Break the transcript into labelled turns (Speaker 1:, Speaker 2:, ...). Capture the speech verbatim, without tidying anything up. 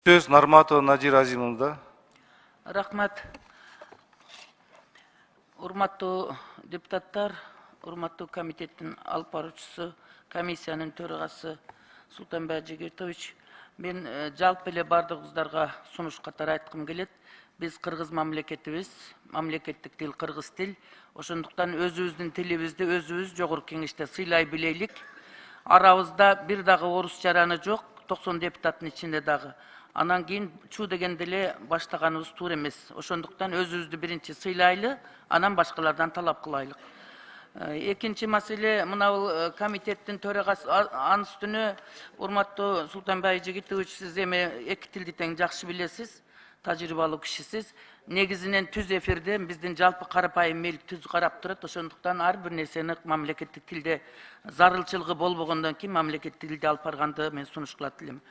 Speaker 1: Сөз Нарматова Надир Азимовда.
Speaker 2: Рахмат. Урматтуу депутаттар, урматтуу комитеттин алып баруучусу, комиссиянын төрагасы Султанбай Жигертович, мен жалпы эле бардыгыбыздарга сунуш катары айткым келет. Биз кыргыз мамлекетибиз, мамлекеттик тил кыргыз тил. Ошондуктан өзүбүздүн тилибизди өзүбүз жогорку кеңеште сыйлай билейли. Арабызда бир дагы орус жараны жок, токсон депутаттын ичинде дагы. Анан кийин чуу дегенде эле баштаганыбыз туура эмес. Ошондуктан өзүбүздү биринчи сыйлайлы, анан башкалардан талап кылайлы. Экинчи маселе, мына бул комитеттин төрагасы, анын үстүнө урматтуу Султанбай Жигитович, сиз эми эки тилди тең жакшы билесиз, тажрыйбалуу кишисиз. Негизинен түз эфирде биздин жалпы карапайым эл түз карап турат. Ошондуктан ар бир нерсени мамлекеттик тилде зарылчылыгы болбогондон кийин мамлекеттик тилде алып барганды мен сунуш кылат элем.